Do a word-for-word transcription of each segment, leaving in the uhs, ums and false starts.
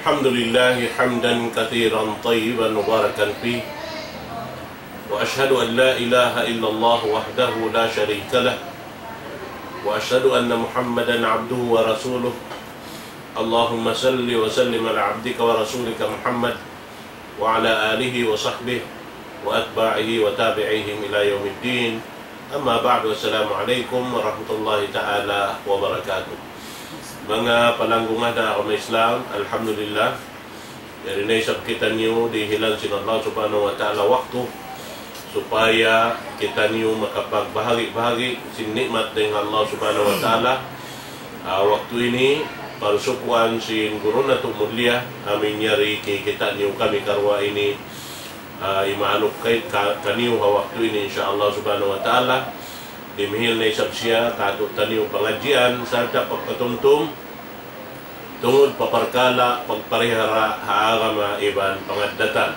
الحمد لله حمدا كثيرا طيبا مباركا فيه، وأشهد أن لا إله إلا الله وحده لا شريك له، وأشهد أن محمدا عبده ورسوله. اللهم صل وسلم على عبدك ورسولك محمد وعلى آله وصحبه وأتباعه وتابعيهم إلى يوم الدين. أما بعد، السلام عليكم ورحمة الله تعالى وبركاته. Manga palanggungan ha agama Islam, alhamdulillah, yari na isab kitaniyu dihilan sin Allah Subhanahu wa Ta'ala waktu supaya kitaniyu makapagbahagi-bahagi sin nikmat dayn ha Allah Subhanahu wa Ta'ala. Ah, waktu ini, parsukuan sin guru natu' mulia, amu in yari kikita' niyu kami karuwa ini, ah, imaluk kay ka-, kaniyu ha waktu ini, insya Allah Subhanahu wa Ta'ala. Dimihil na isab siya kātu'niyu pangadjian, sarta' pagpatumtum, tungud pa parkala' pagparihara ha agama iban pangaddatan.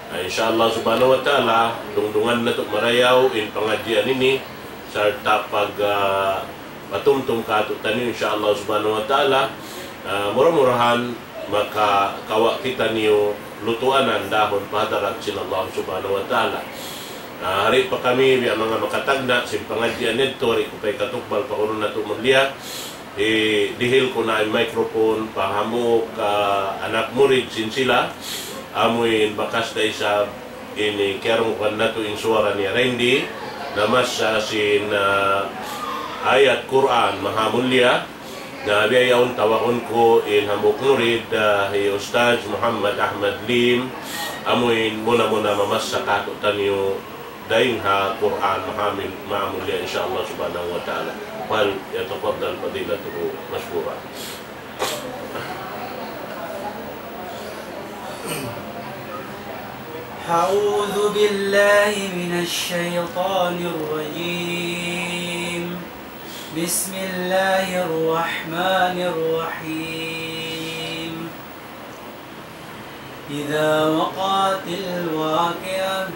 Ah, insya Allah Subhanahu wa Ta'ala, dungdungan natu' marayaw in pangadjian ini, sarta' pag, ah, patumtum kātu'niyu, insya Allah Subhanahu wa Ta'ala. Ah, mura-murahan makakawa' kitaniyu lutuanan dahun pa hadarat sin Allah Subhanahu wa Ta'ala. Ah, hari pa kami, biya' manga makatagna' sin pangadjian yadtu, hari ku pa ikatukbal pa guru natu' mulia. Hi-, dihil ku na in microphone pa hambuuk anak murid sin sila, amu in bakas da isab ini kiyarungkuan natu' in suwara ni Randy, namassa sin, ah, ayat Qur'an mahamulliya. Na biya' yaun tawagun ku in hambuuk murid, ah, hi Ustadz Muhammad Ahmad Lim, amu in muna-muna mamassa kātu'niyu dayn ha Qur'an mahamil-, mahamulliya, insya Allah Subhanahu wa Ta'ala. فليتفضل فضيلته مشكورا. أعوذ بالله من الشيطان الرجيم. بسم الله الرحمن الرحيم. إذا وقعت الواقعة،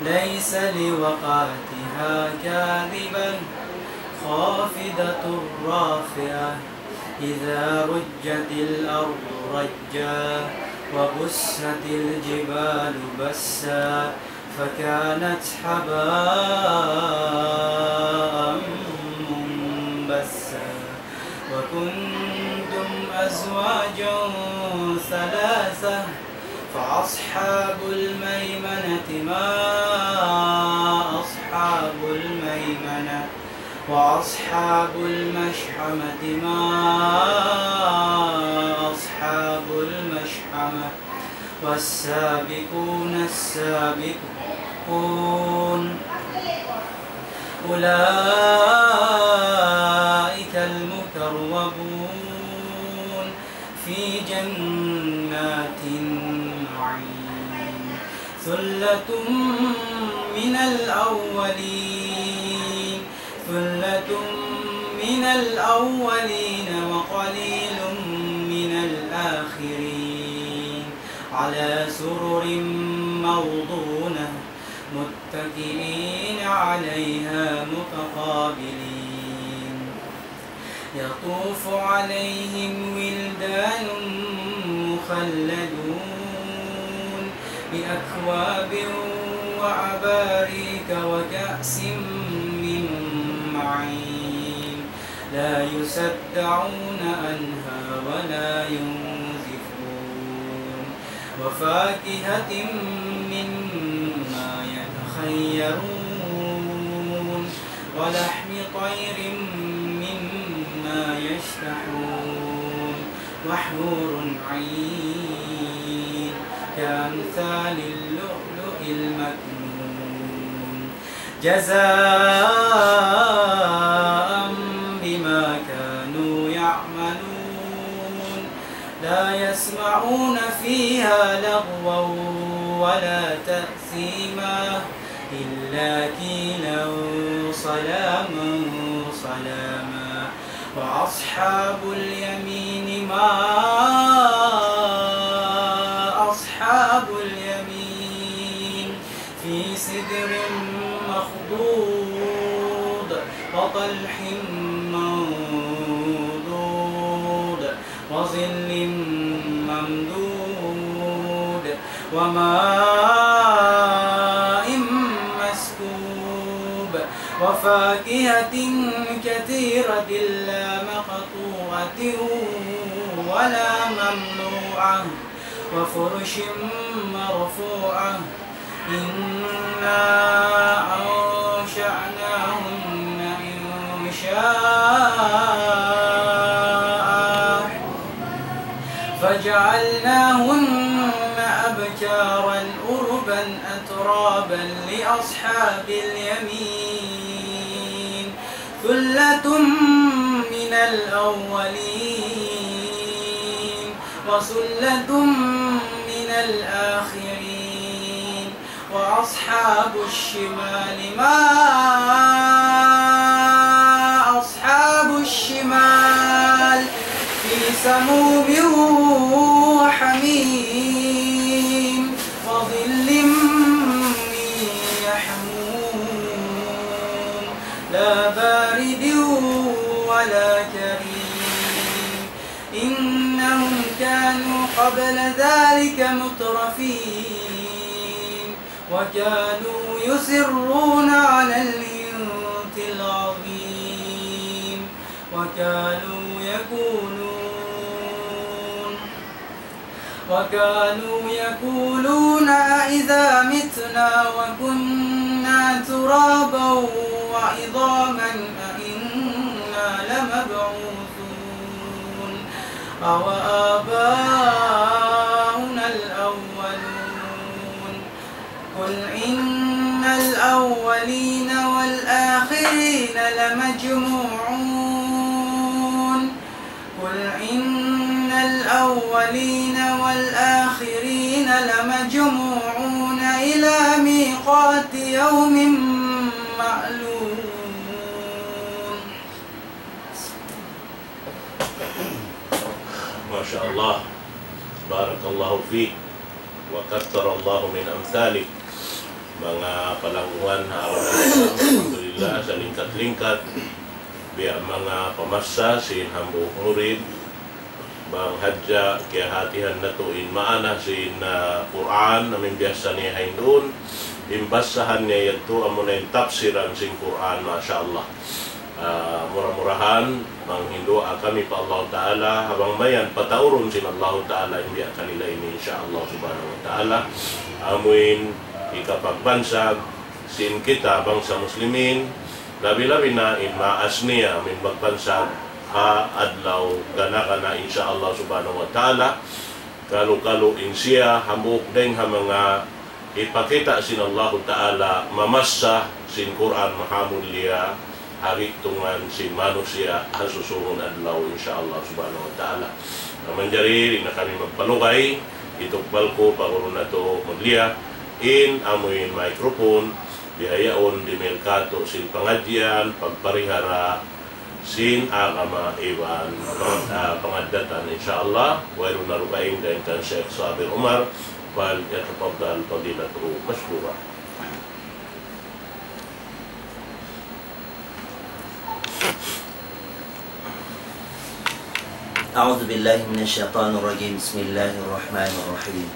ليس لوقعتها كاذبة، خافضة رافعة. إذا رجت الأرض رجا، وبست الجبال بسا، فكانت هباء منبثا. وكنتم أزواجا ثلاثة، فأصحاب الميمنة ما أصحاب الميمنة، وأصحاب المشأمة ما أصحاب المشأمة، والسابقون السابقون، أولئك المقربون في جنات النعيم. ثلة من الأولين، ثلة من الأولين وقليل من الآخرين. على سرر موضونة، متكئين عليها متقابلين. يطوف عليهم ولدان مخلدون بأكواب وأباريك وكأس من معين. لا يصدعون عنها ولا ينزفون. وفاكهة مما يتخيرون. ولحم طير مما يشتهون. وحور عين كأمثال اللؤلؤ المكنون. جزاء بما كانوا يعملون. لا يسمعون فيها لغوا ولا تأثيما. إلا قيلا سلاما سلاما. وأصحاب اليمين ما أصحاب اليمين. في سدر مخضود. وطلح منضود. وظل وماء مسكوب وفاكهة كثيرة لا مقطوعة ولا ممنوعة وفرش مرفوعة. إنا أنشأناهن إنشاء فجعلناهن أبكارا عربا أترابا لأصحاب اليمين. ثلة من الأولين وثلة من الآخرين. وأصحاب الشمال ما أصحاب الشمال في سموم وحميم وظل من يحموم لا بارد ولا كريم. إنهم كانوا قبل ذلك مترفين. وكانوا يصرون على الحنث العظيم. وكانوا يقولون وكانوا يقولون أإذا متنا وكنا ترابا وعظاما أإنا لمبعوثون أو آباؤنا الأولون. قل إن الأولين والآخرين لمجموعون قل إن الأولين والآخرين لمجموعون إلى ميقات يوم معلوم. ما شاء الله. بارك الله فيك. وكثر الله من أمثالك. Manga palanggungan ha agama Islam, alhamdulillah, salingkat-lingkat. Biya' manga pamassa sin hambuuk murid, bang hadja kiyahatihan natu' in maana sin, ah, Qur'an, amu in biyasa niya ha Hinduun, in basahan niya yadtu amuna in tafsiran sin Qur'an, masha Allah. Ah, mura-murahan, manghinduwaa kami pa Allahu Ta'ala, ha bang mayan pataurun sin Allahu Ta'ala in biya' kanila ini, insha Allah Subhanahu wa Ta'ala. Amuin hikapagbansag sin kita bangsa Muslimin, labi-labi na in maas niya, amuin magbansag ha adlaw gana-gana, insha Allah Subhanahu wa Ta'ala. Kalu-kalu in siya, hambuuk dayn ha manga hipakita' sin Allahu Ta'ala, mamassa sin Qur'an mahamulliya, ha gi'tungan sin manusiya' ha susungun adlaw, insha Allah Subhanahu wa Ta'ala. Na manjari, di' na kami magpalugay, hitukbal ku pa guru natu' mulliya, in amuin microphone, bihaun dimihil katu' sin pangadjian, pagparihara, sin agama iban, ah, pangaddatan, insha Allah. Wayruun na dugaing dayn kan Sheikh Sabir Umar, فليتفضل فضيلته مشكورا. أعوذ بالله من الشيطان الرجيم. بسم الله الرحمن الرحيم.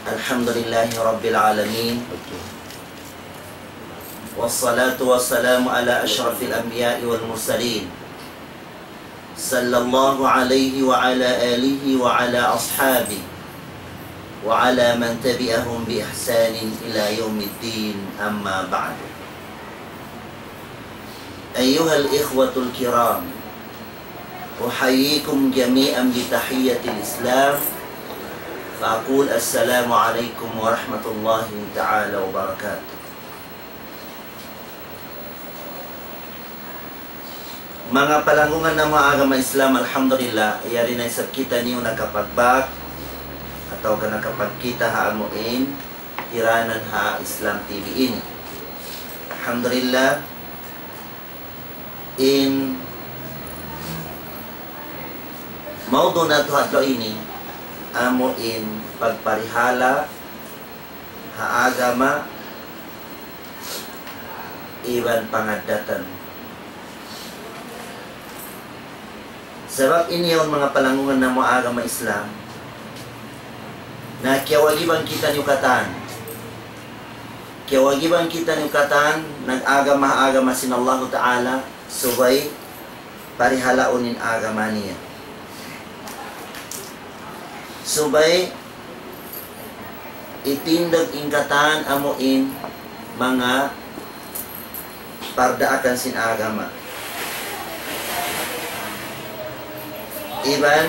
الحمد لله رب العالمين. والصلاة والسلام على أشرف الأنبياء والمرسلين، صلى الله عليه وعلى آله وعلى أصحابه وعلى من تبعهم بإحسان إلى يوم الدين، أما بعد. أيها الإخوة الكرام، أحييكم جميعا بتحية الإسلام، فأقول: السلام عليكم ورحمة الله تعالى وبركاته. Manga palanggungan namu' ha agama Islam, alhamdulillah, yari na isab kitaniyu nakapagbak atawa ka nakapagkita' ha amuin tiranan ha Islam T V ini. Alhamdulillah, in maudu' natu' ha adlaw ini, amuin pagparihala' ha agama iban pangaddatan. Sabab ini yaun, manga palanggungan namu' ha agama Islam, Na kiyawagiban kitaniyu katan. Kiyawagiban kitaniyu katan, nag-agama ha agama sin Allahu Ta'ala, subay parihalaun in agama niya. Subay itindug in katan amu in manga pardaakan sin agama. Iban,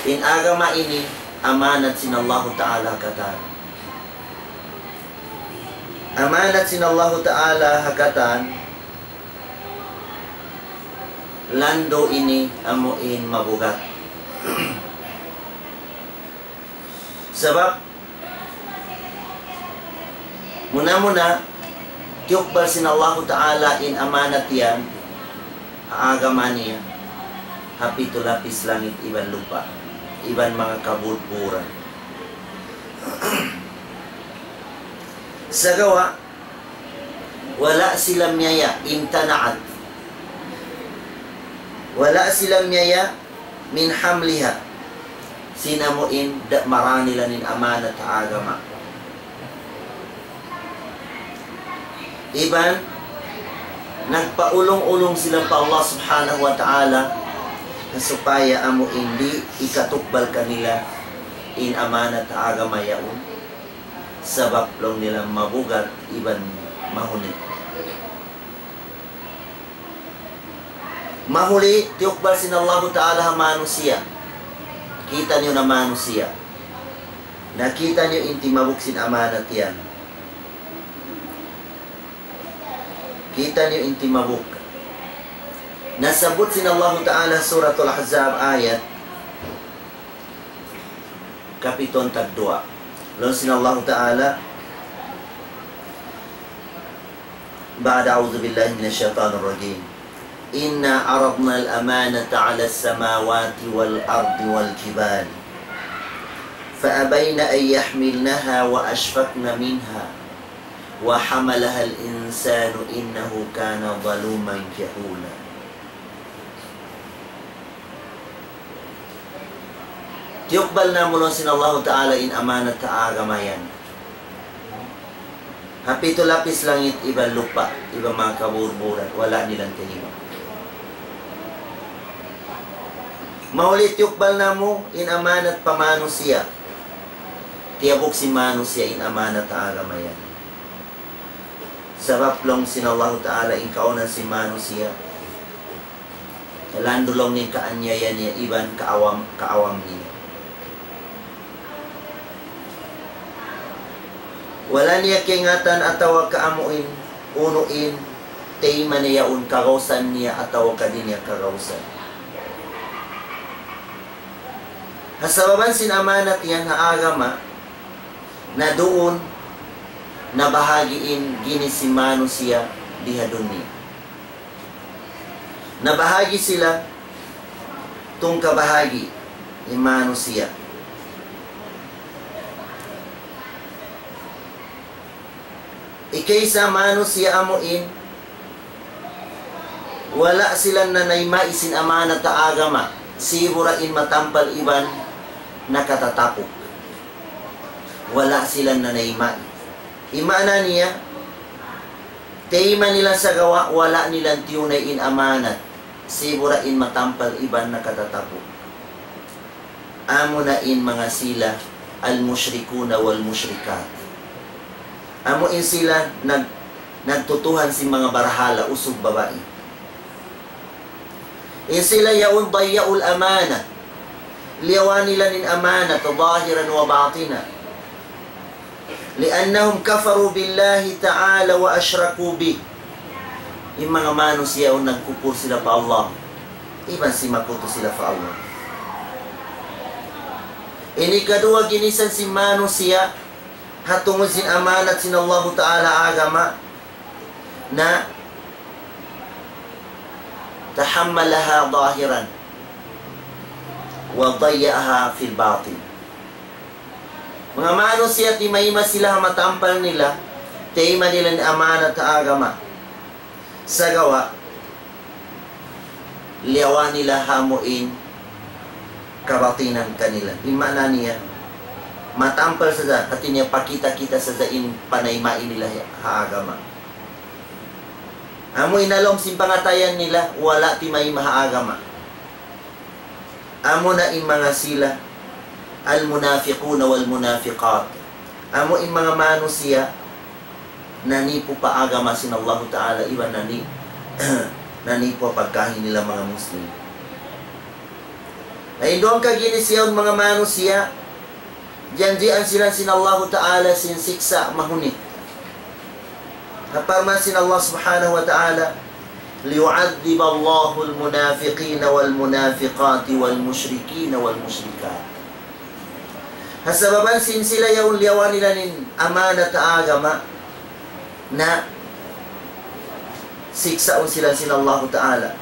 in agama ini amanat sin Allahu Ta'ala katan. Amanat sin Allahu Ta'ala ha katan, landu' ini amu in mabugat. Sabab, muna-muna, tiyukbal sin Allahu Ta'ala in amanat yan, ha agama niya, ha pitu lapis langit iban lupa', iban manga kabudburan. Sagawa', wala' sila miyaya, امتنعت. Wala' sila miyaya, من حملها. Sin amu in da' marā nila in amanat ha agama. Iban, nagpaulung-ulung sila pa Allah Subhanahu wa Ta'ala, supaya amu in di' ikatukbal kanila in amanat ha agama yaun. Sabab laung nila mabugat iban mahuli. Mahuli, tiyukbal sin Allahu Ta'ala ha manusiya'. Kitaniyu na manusiya'. Na kitaniyu in timabuk sin amanat yan. Kitaniyu in timabuk. Nasabbut sin Allahu Ta'ala Suratul Ahzab ayat kapituan tagduwa. Laung sin Allahu Ta'ala, بعد أعوذ بالله من الشيطان الرجيم. إنا عرضنا الأمانة على السماوات والأرض والجبال فأبين أن يحملنها وأشفقن منها وحملها الإنسان إنه كان ظلوما جهولا. Tiyukbal namu' laung sin Allahu Ta'ala in amanat ha agama yan. Ha pitu lapis langit iban lupa', iban manga kaburburan, wala' nila tayma'. Mahuli tiyukbal namu' in amanat pa manusiya'. Tiyabuk sin manusiya' in amanat ha agama yan. Sabab laung sin Allahu Ta'ala in kaunan sin manusiya'. Landu' laung niya kaanyaya niya iban kaawam, kaawam niya. Wala' niya kaingatan atawa kaamuin, unu in, tayma' niya yaun kagausan niya atawa ka di' niya kagausan. Ha sababan sin amanat yan ha agama, na duun, nabahagi' in ginis sin manusiya' di ha dunya. Nabahagi' sila tungka bahagi' in manusiya'. Ikaisa manusiya' amuin, wala' sila nanayma' sin amanat ha agama, sibu' da in matampal iban nakatatapuk. Wala' sila nanayma'. In maana niya, tayma' nila sagawa' wala' nila tiyunay in amanat, sibu' da in matampal iban nakatatapuk. Amuna in manga sila al-mushrikuna wal-mushrikat. Amu in sila nag-, nagtutuhan sin manga barhala usug babai. In sila yaun ضيعوا الأمانة. Liyawa nila in amanat ظاهرا وباطنا. لأنهم كفروا بالله تعالى وأشركوا به. In manga manusiya' yaun nagkupur sila pa Allah. Iban simakutu sila pa Allah. Ini kaduwa ginisan sin manusiya', ha tungud sin amanat sin Allahu Ta'ala agama, na تحملها ظاهرا وضيعها في الباطن. Manga manusiya' timayma' sila ha matampal nila, tayma' nila in amanat ha agama. Sagawa', liyawa nila amuin kabatinan kanila. In maana niya, matampal sadja, hati niya pakita-kita sadja in panayma' nila ha agama. Amu in ha lawm sin pangatayan nila, wala' timayma' ha agama. Amu na in manga sila, المنافقون والمنافقات. Amu in manga manusiya', nanipu pa agama sin Allahu Ta'ala, iban nani-, nanipu pa pagkahi nila manga Muslim. Na in duwa kaginis yaun manga manusiya', janjian sila sin Allahu Ta'ala sin siksa' mahunit. Ha parman sin Allah Subhanahu wa Ta'ala, ليعذب الله المنافقين والمنافقات والمشركين والمشركات. Ha sababan sin sila yaun liyawa nila in amanat ha agama, na siksaun sila sin Allahu Ta'ala.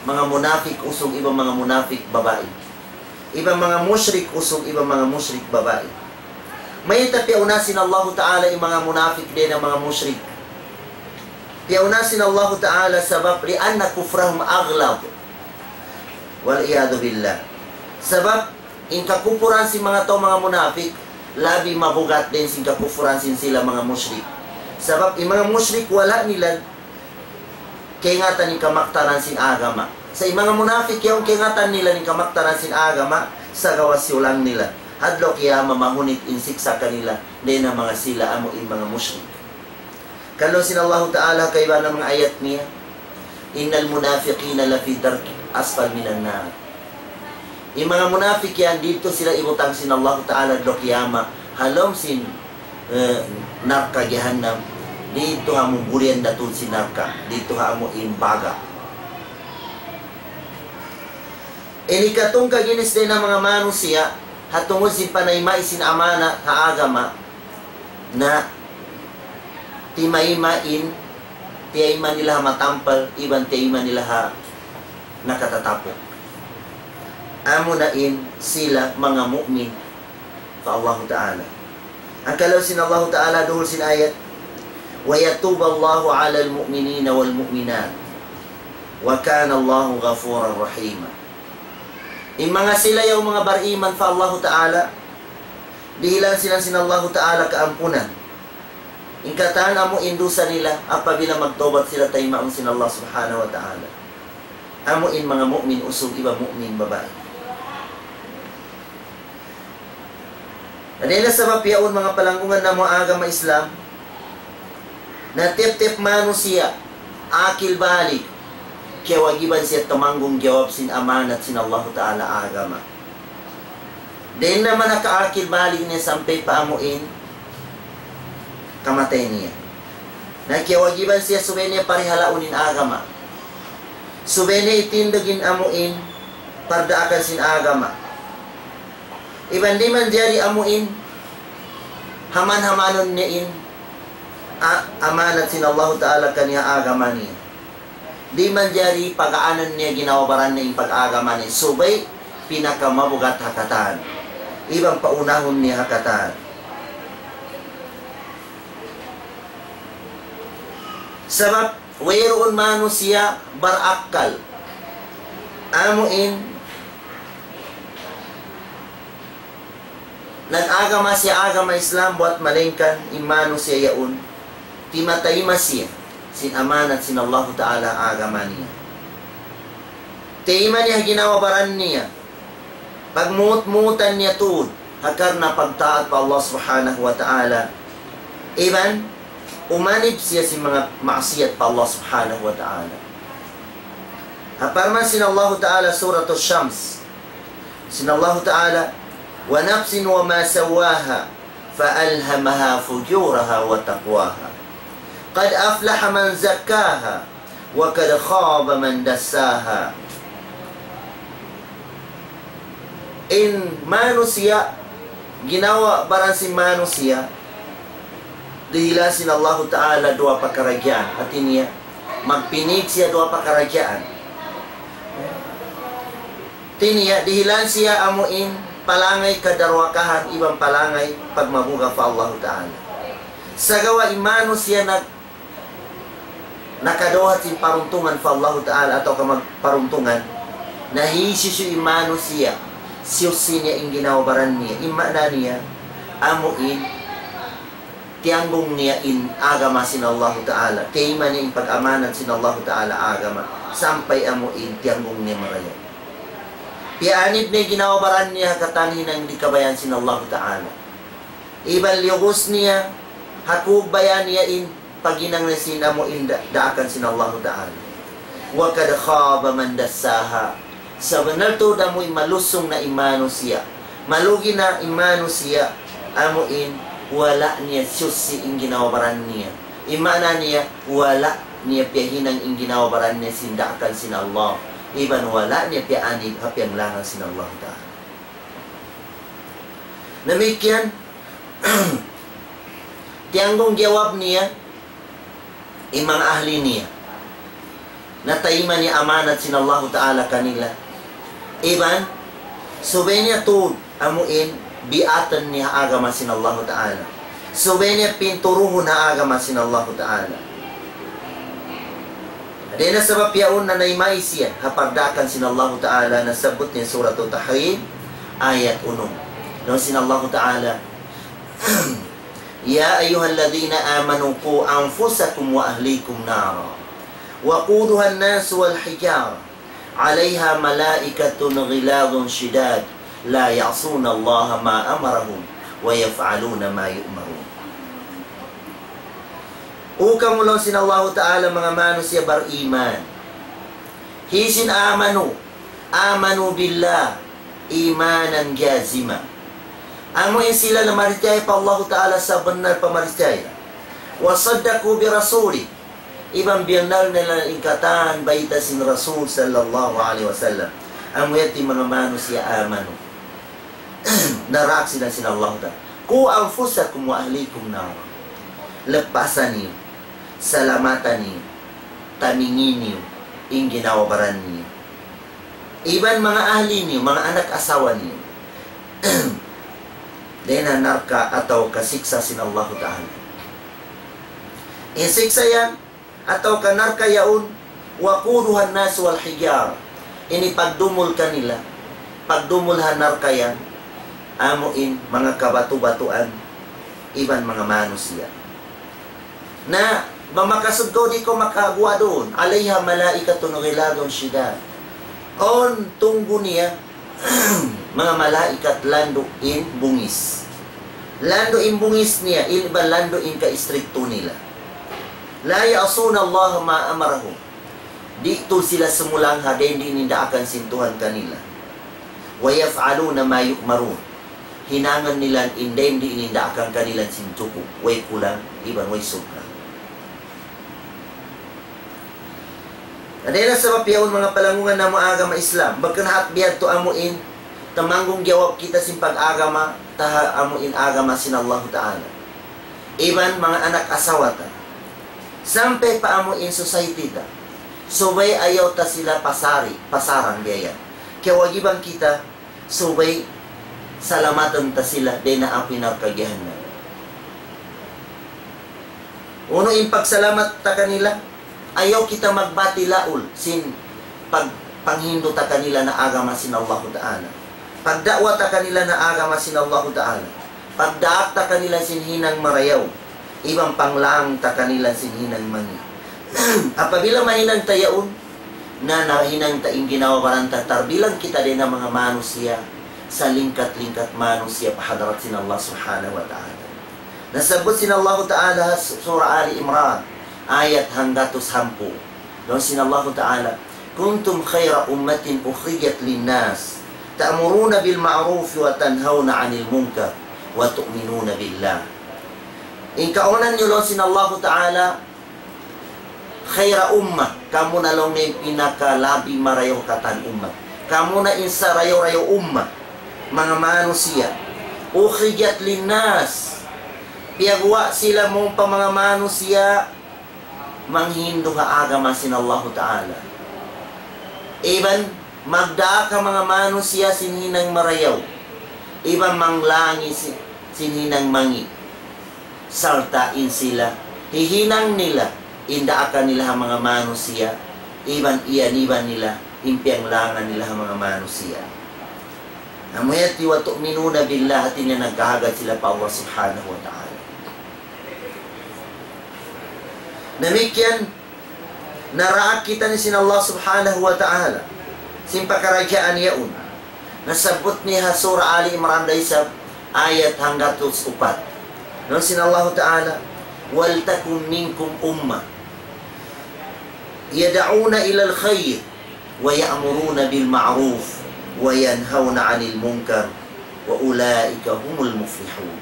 Manga munafik usug iban manga munafik babai. Iban manga mushrik usug iban manga mushrik babai. Mayta' piyauna sin Allahu Ta'ala in manga munafik dayn ha manga mushrik? Piyauna sin Allahu Ta'ala sabab لأن كفرهم أغلظ. والعياذ بالله. Sabab in kakupuran sin manga tau manga munafik, labi mabugat dayn sin kakupuran sin sila manga mushrik. Sabab in manga mushrik wala' nila kaingatan in kamaktaran sin agama. Sa' in manga munafik yaun kaingatan nila in kamaktaran sin agama, sagawa' siyulang nila. Ha adlaw kiyamat mahunit in siksa' kanila, dayn ha manga sila amu in manga mushrik. Laung sin Allahu Ta'ala ha kaibanan manga ayat niya, إن المنافقين لفي الدرك الأسفل من النار. In manga munafik yan, didtu sila ibutang sin Allahu Ta'ala adlaw kiyamat, ha lawm sin, eh, narka' jahannam, didtu ha muburian datud sin narka', didtu ha amu in baga. Ini katungka ginis dayn ha manga manusiya', ha tungud sin panayma' sin amanat ha agama, na timayma' in, tiyayma' nila ha matampal, iban tiyayma' nila ha nakatatapuk. Amu na in sila manga mu'min pa Allahu Ta'ala. Hangkan laung sin Allahu Ta'ala duhul sin ayat, ويتوب الله على المؤمنين والمؤمنات وكان الله غفورا رحيما. In manga sila yaun manga bariman pa Allahu Ta'ala, dihilan sila sin Allahu Ta'ala kaampunan. In katan amu in dusa nila, apabila magtawbat sila taymaun sin Allah Subhanahu wa Ta'ala. Amu in manga mu'min usug iban mu'min babai. Na dayn ha sabab yaun manga palanggungan namu' agama Islam, na tiyap-tiyap manusiya', akil balig, kiyawajiban siya tumanggung jawab sin amanat sin Allahu Ta'ala agama. Dayn ha manga kaakil balig niya sampay pa amu in kamatay niya. Na kiyawajiban siya subay niya parihalaun in agama. Subay niya itindug in amu in pardaakan sin agama. Iban di' manjari amu in haman-hamanun niya in a-, amanat sin Allahu Ta'ala kaniya agama niya. Di' manjari pag-aanun niya ginhawa-baran niya in pag-agama niya. Subay pinakamabugat ha katan. Iban paunahun niya ha katan. Sabab wayruun manusiya' barakkal. Amu in nag-agama siya agama Islam buwat malayngkan in manusiya' yaun, timatayma siya sin amanat sin Allahu Ta'ala agama niya. Tayma niya ginhawa-baran niya. Pagmuut-muutan niya tuud, ha karna' pagtaat pa Allah Subhanahu wa Ta'ala. Iban, umanib siya sin manga maksiyat pa Allah Subhanahu wa Ta'ala. Ha parman sin Allahu Ta'ala Suratul Shams. Sin Allahu Ta'ala, ونفس وما سواها فألهمها فجورها وتقواها قد أفلح من زكاها وقد خاب من دساها. In manusiya', ginhawa-baran sin manusiya', dihilan sin Allahu Ta'ala duwa pakaradjaan. Hati niya, magpinig siya duwa pakaradjaan. Hati niya, dihilan siya amu in palangay kadarwakahan iban palangay pagmabuga' pa Allahu Ta'ala. Sagawa' in manusiya' nag-, nakadawhat sin paruntungan pa Allahu Ta'ala atawa ka magparuntungan, na hisiyu in manusiya' siyusi niya in ginhawa-baran niya. In maana niya, amu in tiyanggung niya in agama sin Allahu Ta'ala. Tiyayma' niya in pag-amanat sin Allahu Ta'ala agama. Sampay amu in tiyanggung niya marayaw. Piyaanib niya in ginhawa-baran niya ha katan hinang di' kabayaan sin Allahu Ta'ala. Iban liyubus niya, ha kubaya niya in paghinang niya sin amu in da-, daakan sin Allahu Ta'ala. وقد خاب من دساها. Sabunnal tuud amu in malusung na in manusiya'. Malugi na in manusiya', amu in wala' niya siyusi in ginhawa-baran niya. In maana niya, wala' niya piyahinang in ginhawa-baran niya sin daakan sin Allah. Iban wala' niya piyaanib ha piyanglangan sin Allahu Ta'ala. Damikkiyan, tiyanggung jawab niya, in manga ahli niya. Natayma' niya amanat sin Allahu Ta'ala kanila. Iban, subay niya tuud, amu in, biatan niya agama sin Allahu Ta'ala. Subay niya pinturuhun ha agama sin Allahu Ta'ala. Dayn ha sabab yaun nanayma' siya ha pagdaakan sin Allahu Ta'ala, nasabbut niya Suratul Tahrim, ayat unum. Laung sin Allahu Ta'ala, يا أيها الذين آمنوا قوا أنفسكم وأهليكم نارا وقودها الناس والحجارة عليها ملائكة غلاظ شداد لا يعصون الله ما أمرهم ويفعلون ما يؤمرون. O kamu laung sin Allahu Ta'ala manga manusiya' bariman. Hisiyu in amanu, amanu billah, imanan jazima. Amu in sila nagparachaya pa Allahu Ta'ala sabunnal pagparachaya. وصدقوا برسوله. Iban biyannal nila in katan bayta' sin Rasul sallallahu alayhi wasallam. Amu yadtu in manga manusiya' amanu. Naraak sila sin Allah Ta'ala. قوا أنفسكم وأهليكم نارا. Lapasa niyu, salamata niyu, tamingi niyu, in ginhawa-baran niyu. Iban manga ahli niyu, manga anak asawa niyu. Dayn ha narka' atawa kasiksa' sin Allah Ta'ala. In siksa' yan, atawa ka narka' yaun, وقودها الناس والحجارة. Ini pagdumul kanila, pagdumul ha narka' yan, amu in manga kabatu-batuan, iban manga manusiya'. Na, bang makasud kaw di' kaw makaguwa' duun, عليها ملائكة غلاظ شداد. Awn tunggu niya, manga malaikat landu' in bungis. Landu' in bungis niya, iban landu' in kaistriktu nila. لا يعصون الله ما أمرهم. Di' tuud sila sumulang ha dayn di' in daakan sin Tuhan kanila. ويفعلون ما يؤمرون. Hinangan nila in dayn di' in daakan kanila sin jukup, way kulang, iban way subra. Na dayn ha sabab yaun manga palanggungan namu' agama Islam, bukun hat biya' tu amu in, tumanggung jawab kita sin pag-agama, ta ha amu in agama sin Allahu Ta'ala. Iban manga anak asawa ta. Sampay pa amu in society ta. Subay ayaw ta sila pasari, pasarang biya' yan. Kiyawajiban kita, subay salamatun ta sila dayn ha api narka' jahannam. Unu in pagsalamat ta kanila, ayaw kita magbati' laul sin pag-, panghindu' ta kanila na agama sin Allahu Ta'ala. Pagda'wa ta kanila na agama sin Allahu Ta'ala. Pagdaak ta kanila sin hinang marayaw. Iban panglang ta kanila sin hinang mangi'. Apabila mahinang ta yaun, na nahinang ta in ginhawa-baran ta, tarbilang kita dayn ha manga manusiya', salingkat-lingkat manusiya' pa hadarat sin Allah Subhanahu wa Ta'ala. Nasabbut sin Allahu Ta'ala ha su-, Surah Ali Imran, ayat hanggatus hangpu'. Laung sin Allahu Ta'ala, كنتم خير أمة أخرجت للناس تأمرون بالمعروف وتنهون عن المنكر وتؤمنون بالله. In kaunan niyu laung sin Allahu Ta'ala, خير أمة, kamu na laung niya in pinakalabi marayaw katan ummat. Kamu na in sarayaw-rayaw ummat, manga manusiya'. أخرجت للناس, piyaguwa' sila mawn pa manga manusiya', manghindu' ha agama sin Allahu Ta'ala. Iban magdaak ha manga manusiya' sin hinang marayaw. Iban manglangi si-, sin hinang mangi'. Sarta' in sila, hihinang nila, in daakan nila ha manga manusiya', iban iyaniban nila, in piyanglangan nila ha manga manusiya'. Amu yadtu وتؤمنون بالله, hati niya nagkahagad sila pa Allah Subhanahu wa Ta'ala. Damikkiyan, naraak kitaniyu sin Allah Subhanahu wa Ta'ala sin pakaradjaan yaun. Nasabbut niya ha Surah Ali Imran da isab, ayat hanggatus upat. Laung sin Allahu Ta'ala, ولتكن منكم أمة يدعون إلى الخير ويأمرون بالمعروف وينهون عن المنكر وأولئك هم المفلحون.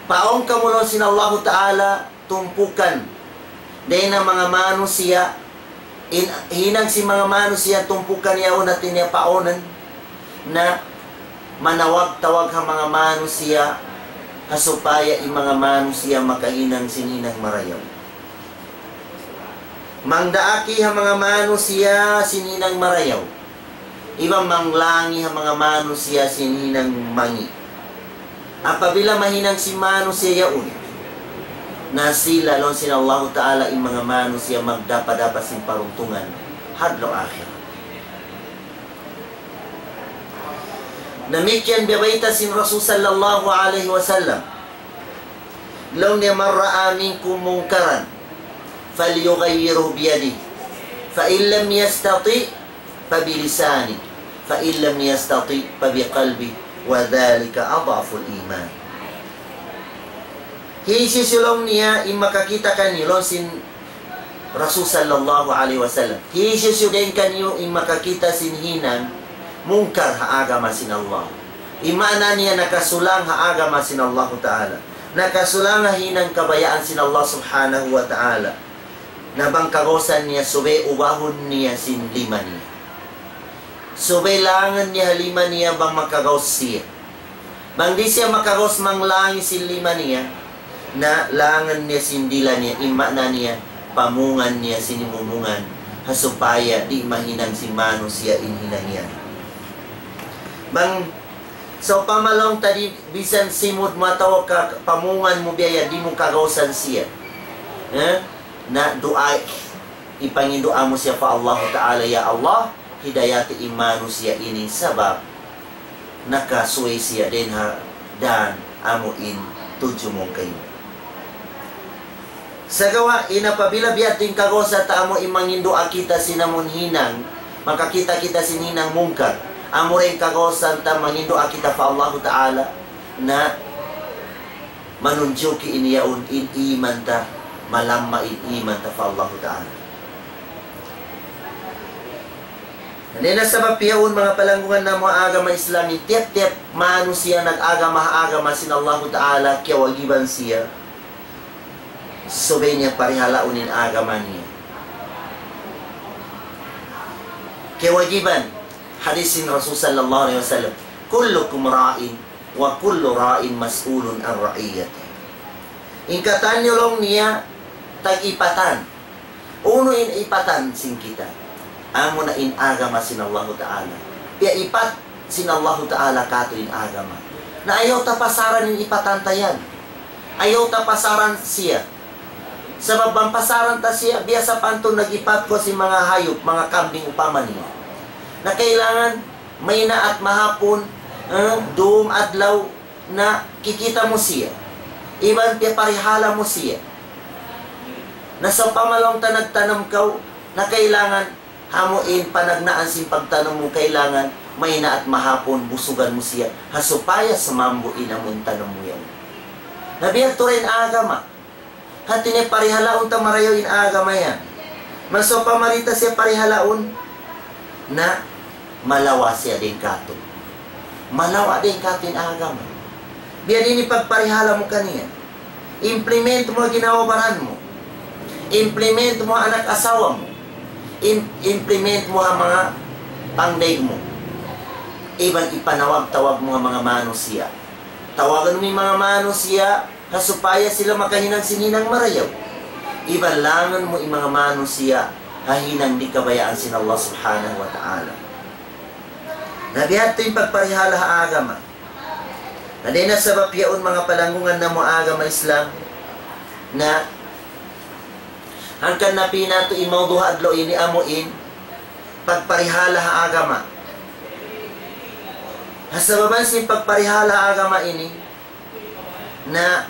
Paawn kamu, laung sin Allahu Ta'ala, tumpukan dayn ha manga manusiya', in, hinang sin manga manusiya' tumpukan yaun, hati niya paawnan, na manawag-tawag ha manga manusiya', ha supaya in manga manusiya' makahinang sin hinang marayaw. Mangdaaki ha manga manusiya' sin hinang marayaw. Iban manglangi ha manga manusiya' sin hinang mangi'. Apabila mahinang sin manusiya' yaun, na sila, laung sin Allahu Ta'ala, in manga manusiya' magdapa-dapa sin paruntungan ha adlaw akhirat. Damikkiyan biya' bayta' sin Rasul sallallahu alayhi wasallam. Laung niya, من رأى منكم منكرا فليغيره بيده فإن لم يستطع فبلسانه فإن لم يستطع فبقلبه وذلك أضعف الإيمان. Hisiyu-siyu, laung niya, in makakita' kaniyu, laung sin Rasul sallallahu alayhi wasallam. Hisiyu-siyu dayn kaniyu in makakita' sin hinang mungkar ha agama sin Allah. In maana niya nakasulang ha agama sin Allahu Ta'ala. Nakasulang ha hinang kabayaan sin Allah Subhanahu wa Ta'ala. Na bang kagausan niya, subay ubahun niya sin lima niya. Subay langan niya ha lima niya bang makagaus siya. Bang di' siya makagaus manglangi sin lima niya, na langan niya sin dila niya, in maana niya, pamungan niya sin himumungan, ha supaya di' mahinang sin manusiya' in hinang yan. Bang, sawpama laung ta di', bisan simud mu atawa ka pamungan mu biya' yan, di' mu kagausan siya. Eh? Na duwaa, ipanginduwaa mu siya pa Allahu Ta'ala, "Ya Allah, hidayati in manusiya' ini sabab nakasuway siya dayn ha dan amu in tudju mu kaymu." Sagawa' in apabila biya' diin kagausan ta amu in manginduwaa kita sin amun hinang, makakita' kita sin hinang mungkar, amu ra in kagausan ta manginduwaa kita pa Allahu Ta'ala, na manunjuki in yaun in iman ta, malamma in iman ta pa Allahu Ta'ala. Dayn ha sabab yaun, manga palanggungan namu' agama Islam, in tiyap-tiyap manusiya' nag-agama ha agama sin Allahu Ta'ala, kiyawajiban siya, subay niya parihalaun in agama niya. Kiyawajiban, hadis sin Rasul sallallahu alayhi wasallam, كلكم راع وكل راع مسؤول عن رعيته. In katan niyu laung niya tag-ipatan. Unu in ipatan sin kita? Amuna in agama sin Allahu Ta'ala. Piyaipat sin Allahu Ta'ala katu' in agama. Na ayaw ta pasaran in ipatan ta yan. Ayaw ta pasaran siya. Sabab bang pasaran ta siya, biya' sapantun nag-ipat kaw sin manga hayup, manga kambing upama niya. Na kailangan maynaat mahapun, eh, dum adlaw, na kikita' mu siya. Iban piyaparihala mu siya. Na sawpama laung ta nagtanum kaw, na kailangan amu in panagnaan sin pagtanum mu, kailangan maynaat mahapun busugan mu siya, ha supaya sumambu in amu in tanum mu yan. Na biya' tuud in agama. Hati niya parihalaun ta marayaw in agama yan. Bang sawpama di' ta siya parihalaun, na malawa' siya dayn katu'. Malawa' dayn katu' in agama. Biya' diin in pagparihala mu kaniya? Implement mu ha ginhawa-baran mu. Implement mu ha anak asawa mu. Im-, implement mu ha manga pangdaig mu. Iban ipanawag-tawag mu ha manga manusiya'. Tawagun mu in manga manusiya' ha supaya sila makahinang sin hinang marayaw. Iban langun mu in manga manusiya' ha hinang di' kabayaan sin Allah Subhanahu wa Ta'ala. Na biya' hādtu in pagparihala ha agama. Na dayn ha sabab yaun, manga palanggungan namu' agama Islam, na hangkan napī' natu' in mawdu' ha adlaw ini amu in pagparihala ha agama. Sabab sin pagparihala agama ini, na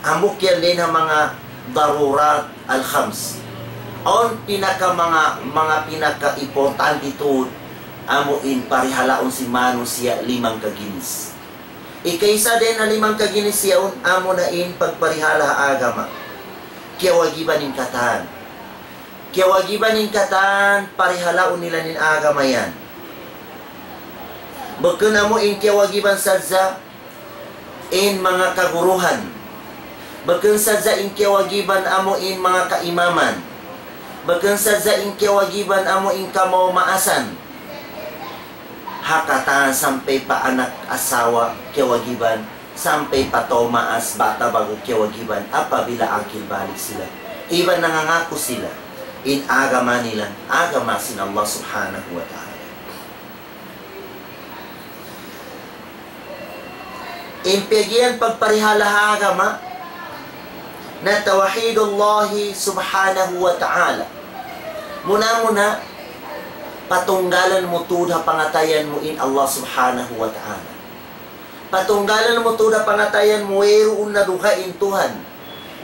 hambuuk yan dayn ha manga darurat al-khams. Awn pinaka manga, manga pinaka importante tuud, amu in parihalaun sin manusiya' limang kaginis. Ikaisa dayn ha limang kaginis yaun, amu na in pagparihala agama. Kiyawajiban in katan. Kiyawajiban in katan, parihalaun nila in agama yan. Bukun amu in kiyawajiban sadja in manga kaguruhan. Bukun sadja in kiyawajiban amu in manga kaimaman. Bukun sadja in kiyawajiban amu in kamaasan. Ha katan sampay pa anak asawa kiyawajiban, sampay pa tau maas bata' bagu' kiyawajiban apabila akil balig sila. Iban nangangaku sila in agama nila, agama sin Allah Subhanahu wa Ta'ala. In piyagiyan pagparihala ha agama, na tawhidullahi subhanahu wa ta'ala. Muna-muna, patunggalan mu tuud ha pangatayan mu in Allah subhanahu wa ta'ala. Patunggalan mu tuud ha pangatayan mu wayruun na dugaing Tuhan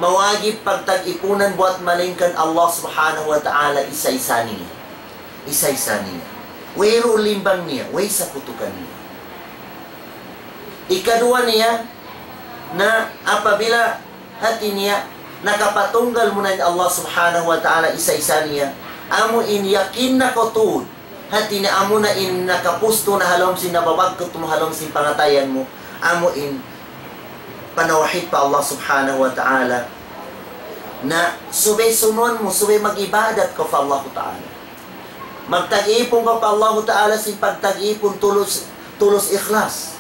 mawajib pagtag-ipunan buwat malaingkan Allah subhanahu wa ta'ala isa-isa niya. Isa-isa niya. Wayruun limbang niya, way sakutu kaniya. Ikaduwa niya, na apabila hati niya, nakapatunggal mu na in Allah subhanahu wa ta'ala isa-isa niya, amu in yakin na kaw tuud, hati niya amu na in nakapustu na ha lawm sin nababagkut mu ha lawm sin pangatayan mu, amu in panawhid pa Allah subhanahu wa ta'ala, na subay sunun mu, subay mag-ibadat kaw pa Allah ta'ala. Magtag-ipun kaw pa Allah ta'ala sin pagtag-ipun tulus, tulus ikhlas.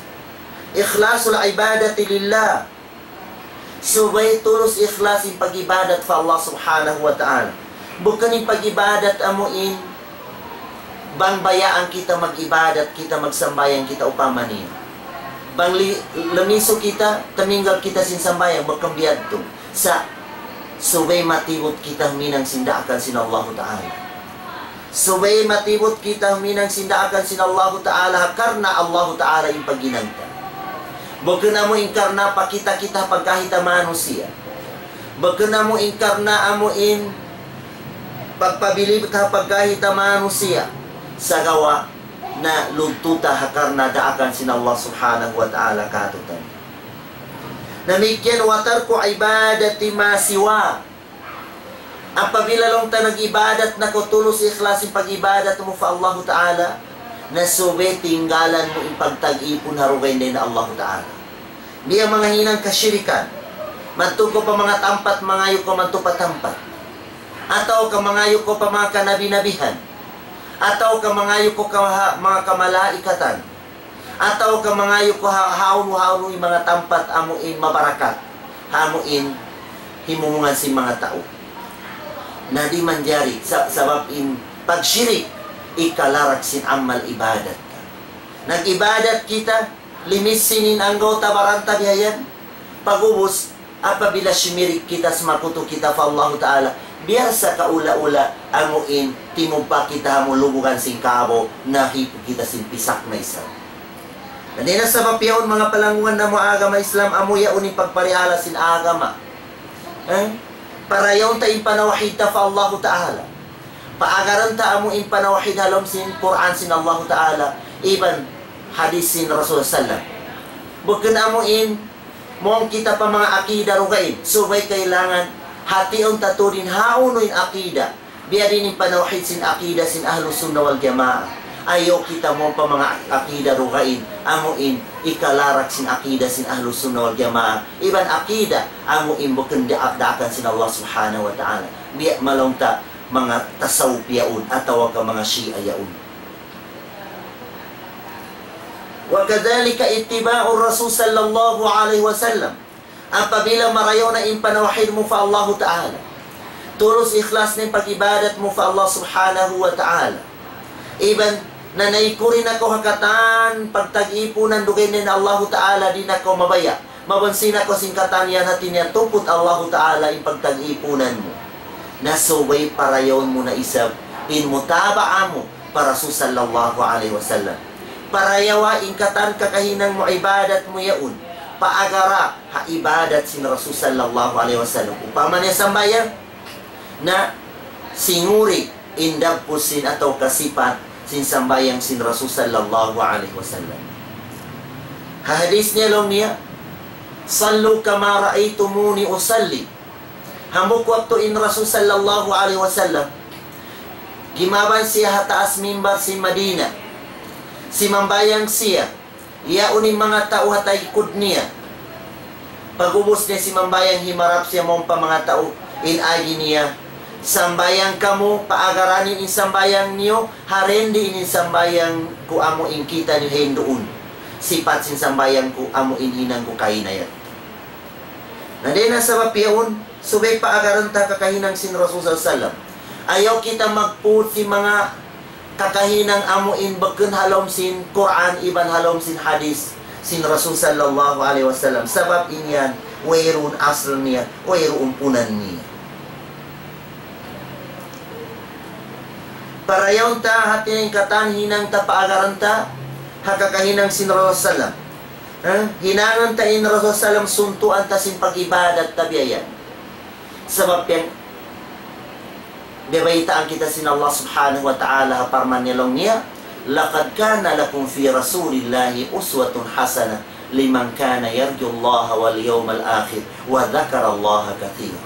Ikhlasul ibadati lillah. Subay tulus ikhlas in pag-ibadat pa Allah subhanahu wa ta'ala. Bukun in pag-ibadat amu in bang bayaan kita mag-ibadat, kita magsambahayang kita upama niya. Bang li-, lumisu kita, tuminggal kita sin sambahayang, bukun biya' yadtu. Sa', subay matibut kita huminang sin daakan sin Allahu Ta'ala. Subay matibut kita huminang sin daakan sin Allahu Ta'ala, karna' Allahu Ta'ala in paghinang ta. Bukun amu in karna' pakita kita pagkahi ta manusiya'. Bukun amu in karna' amu in pagpabilib ta pagkahi ta manusiya'. Sagawa' na lugtu ta ha karna' daakan sin Allah Subhanahu wa Ta'ala kātu'niyu. Damikkiyan, wa tarku ibadati ma siwa. Apabila laung ta nag-ibadat na kaw tulus ikhlas in pag-ibadat mu pa Allahu Ta'ala, na subay tinggalan mu in pagtag-ipun ha dugaing dayn ha Allahu Ta'ala. Biya' manga hinang kasirikan, madtu kaw pa manga tampat, mangayu' kaw madtu pa tampat. Atawa ka mangayu' kaw pa manga kanabi-nabihan. Atawa ka mangayu' kaw ka ha-, manga kamalaikatan. Atawa ka mangayu' kaw ha-, hawnu-hawnu in manga tampat amu in mabarakat, amu in himumungan sin manga tau. Na di' manjari, sa-, sabab in pagsirik, ikalarak sin amal ibadat. Nag-ibadat kita, limis sin in anggawta' baran ta biya' yan. Pag'ubus, apabila simirik kita, sumakutu kita pa Allahu Ta'ala, biya' sa kaula-ula, amu in, timubpa kita amu lubugan sin kabaw, nahipu kita sin pisak na isab. Na dayn ha sabab yaun manga palanggungan namu' agama Islam, amu yaun in pagparihala sin agama. Eh? Parayaun ta in panawhid ta pa Allahu Ta'ala. Paagaran ta amu in panawhid ha lawm sin Qur'an sin Allahu Ta'ala, iban hadith sin Rasul sallam. Bukun amu in, mawn kita pa manga akida dugaing, subay kailangan hatiun ta tuud in hawnu in akida. Biya' diin in panawhid sin akida sin Ahlus Sunnah wal Jamaah. Ayaw kita mawn pa manga akida dugaing, amu in ikalarak sin akida sin Ahlus Sunnah wal Jamaah. Iban akida, amu in bukun da-, daakan sin Allah Subhanahu wa Ta'ala. Biya' malaung ta manga tasawuf yaun, atawa ka manga Shia yaun. وكذلك اتباع الرسول صلى الله عليه وسلم. Apabila marayaw na in panawhid mu pa Allahu Ta'ala, tulus ikhlas na in pag-ibadat mu pa Allah Subhanahu wa Ta'ala, iban nanay kuri na kaw ha katan pagtag-ipunan dugaing na Allahu Ta'ala, di' na kaw mabaya', mabansi na kaw sin katan yan, hati niya tuput Allahu Ta'ala in pagtag-ipunan mu. Na subay parayawun mu na isab in mutaba'a mu pa Rasul sallallahu alayhi wasallam. Parayawa in katan kakahinang mu ibadat mu yaun. Paagara ha ibadat sin Rasul sallallahu alayhi wasallam. Upama niya sambahayang, na singuri in dagbus sin atawa ka sipat sin sambahayang sin Rasul sallallahu alayhi wasallam. Ha hadith niya laung niya, صلوا كما رأيتموني أصلي. Hambuuk waktu in Rasul sallallahu alayhi wasallam, gimaban siya ha taas mimbar sin Madina. Simambahayang siya, yaun in manga tau ha taykud niya. Pag'ubus niya simambahayang, himarap siya mawn pa manga tau, in agi niya, sambahayang kamu, paagara niyu in sambahayang niyu, ha dindi in sambahayang ku amu in kita' niyu hinduun. Sipat sin sambahayang ku amu in hinang ku kaina yan. Na dayn ha sabab yaun, subay paagaran ta kakahinang sin Rasul sallallahu alayhi wasallam. Ayaw kita magput sin manga kakahinang amu in bukun ha lawm sin Qur'an iban ha lawm sin hadith sin Rasul sallallahu alayhi wasallam. Sabab in yan, wayruun asal niya, wayruun punan niya. Parayawun ta hati niya in katan hinang ta paagaran ta ha kakahinang sin Rasul sallam. Ha? Hinangun ta in Rasul sallam suntuan ta sin pag-ibadat ta biya' yan. Sabab yan, biyabaytaan kita sin Allah subhanahu wa ta'ala ha parman niya laung niya, لقد كان لكم في رسول الله أسوة حسنة لمن كان يرجو الله واليوم الآخر وذكر الله كثيرا.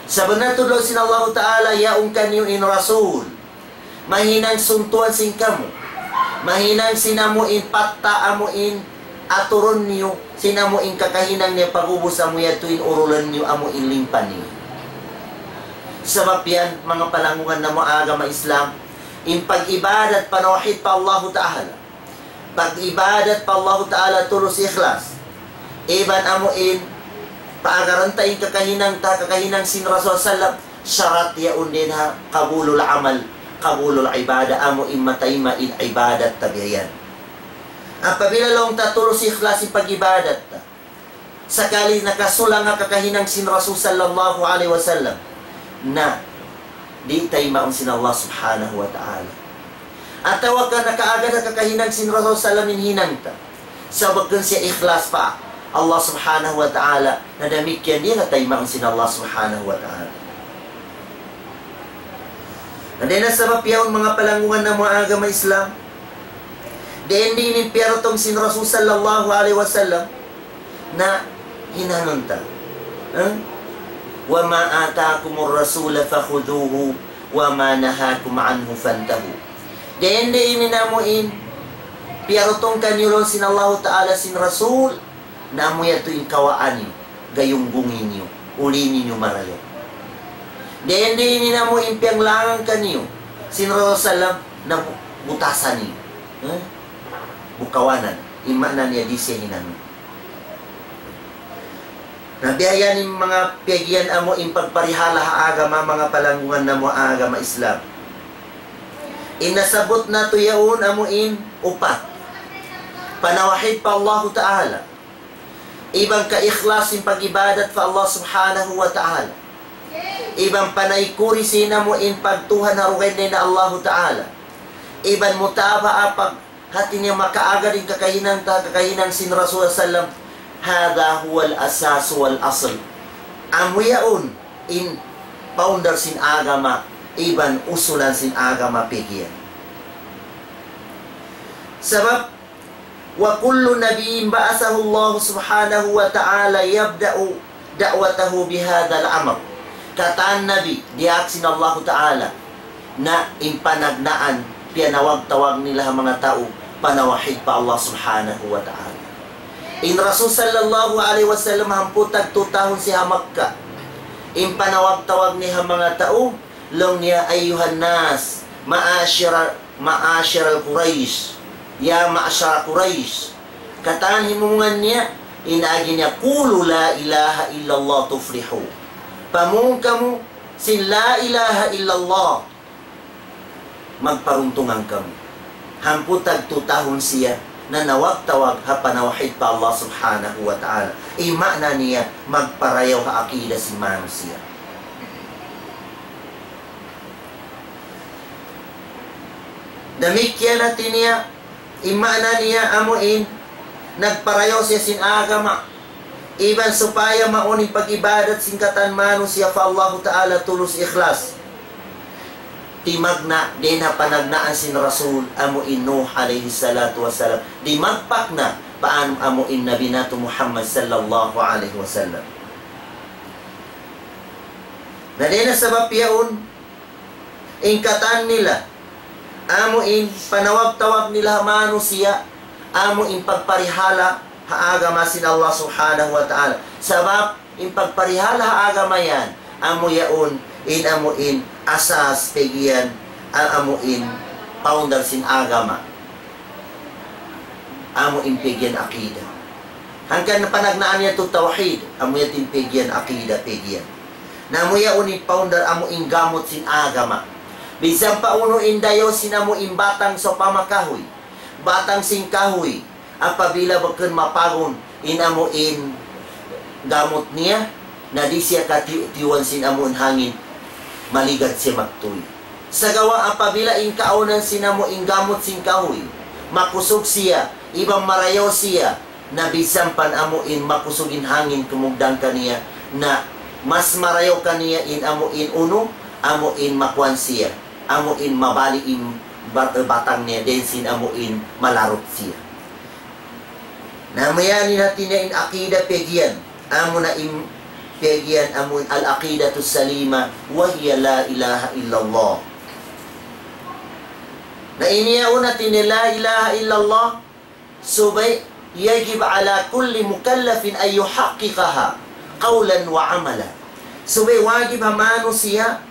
Sabunnal tuud laung sin Allahu Ta'ala, yaun kaniyu in Rasul. Mahinang suntuan sin kamu. Mahinang sin amu in patta' amu in aturun niyu, sin amu in kakahinang niya pag'ubus amu yadtu in urulan niyu amu in limpa niyu. Sabab yan, manga palanggungan namu' agama Islam, in pag-ibadat panawhid pa Allahu Ta'ala. Pag-ibadat pa Allahu Ta'ala tulus ikhlas. Iban amu in, paagaran ta in kakahinang ta, kakahinang sin Rasul sallam, sarat yaun dayn ha qabulul amal, qabulul ibadah, amu in matayma' in ibadat ta biya' yan. Apabila laung ta tulus ikhlas in pag-ibadat ta, sakali nakasulang ha kakahinang sin Rasul sallallahu alayhi wasallam, na di' taymaun sin Allah subhanahu wa ta'ala. Atawa ka nakaagad ha kakahinang sin Rasul sallam in hinang ta. Sabab bukun siya ikhlas pa Allah subhanahu wa ta'ala, na damikkiyan di' na taymaun sin Allah subhanahu wa ta'ala. Na dayn ha sabab yaun manga palanggungan namu' agama Islam, dayn di' ini piyarutung sin Rasul sallallahu alayhi wasallam, na hinangun ta. Eh? وما آتاكم الرسول فخذوه وما نهاكم عنه فانتهوا. Dayn di' ini namu' in piyarutung kaniyu laung sin Allahu Ta'ala sin Rasul, na amu yadtu in kawaan niyu, gayunggungi niyu, uli niyu marayaw. Dayn di' ini namu' in piyanglangan kaniyu sin Rasul sallam, na bu-, butasan niyu. Eh? Bukawanan. In maana niya di' siya hinangun. Na biya' yan in manga piyagiyan amu in pagparihala ha agama, manga palanggungan namu' agama Islam. In nasabbut natu' yaun amu in upat. Panawhid pa Allahu Ta'ala. Iban kaikhlas in pag-ibadat pa Allah Subhanahu wa Ta'ala. Iban panaykud sin amu in pagtuhan ha dugaing dayn ha Allahu Ta'ala. Iban mutaba'a pag hati niya makaagad in kakahinang ta, kakahinang sin Rasul sallam, هذا هو الأساس والأصل. Amu yaun in founder sin agama, iban usulan sin agama piyagiyan. Sabab, وكل نبي بعثه الله سبحانه وتعالى يبدأ دعوته بهذا الأمر. Katan nabi, diyaak sin Allahu Ta'ala, na in panagnaan, piyanawag-tawag nila ha manga tau, panawhid pa Allah Subhanahu wa Ta'ala. In Rasul sallallahu alayhi wasallam hangpu' tagtu tahun siya ha Makkah. In panawag-tawag niya ha manga tau, laung niya, أيها الناس، معاشر معاشر قريش، يا معشر قريش. Katan himumungan niya, in agi niya, قولوا لا إله إلا الله تفلحوا. Pamung kamu sin لا إله إلا الله, magparuntungan kamu. Hangpu' tagtu tahun siya nanawag-tawag ha panawhid pa Allah Subhanahu wa Ta'ala. In maana niya, magparayaw ha akida sin manusiya'. Damikkiyan hati niya, In maana niya amu in nagparayaw siya sin agama. Iban supaya mawn in pag-ibadat sin katan manusiya' pa Allahu Ta'ala tulus ikhlas. Timagna' dayn ha panagnaan sin Rasul amu in Nuh alayhi salatu wassalam. Dimagpak na pa amu in Nabi natu' Muhammad sallallahu alayhi wasallam. Na dayn ha sabab yaun, in katan nila, amu in panawag-tawag nila ha manusiya', amu in pagparihala ha agama sin Allah Subhanahu wa Ta'ala. Sabab in pagparihala ha agama yan, amu yaun, in amu in asas pegge' yan, a-, amu in founder sin agama. Amu in pegge' yan aqida. Hangkan panagnaan niya tu tawhid, amu yan in pegge' yan aqida, pegge' yan. Na amu yaun in founder amu in gamut sin agama. Bisan pa unu in dayaw sin amu in batang sawpama kahuy. Batang sin kahuy, apabila bukun mapagun in amu in gamut niya, na di' siya katiyu'-tiyuan sin amu in hangin, maligad siya magtuy. Sagawa' apabila in kaunan sin amu in gamut sin kahuy, makusug siya, iban marayaw siya, na bisan pa amu in makusug in hangin kumugdan kaniya, na mas marayaw kaniya in amu in unu, amu in makuan siya, amu in mabali' in bat-, batang niya, dayn sin amu in malarut siya. Na amu yan in hati niya in aqida pegge' yan. Amu na in pegge' yan, amu in al-aqidatus salima, wa hiya la ilaha illallah. Na ini yaun hati niya la ilaha illallah, subay يجب على كل مكلف أن يحققها قولا وعملا. Subay wajib ha manusiya',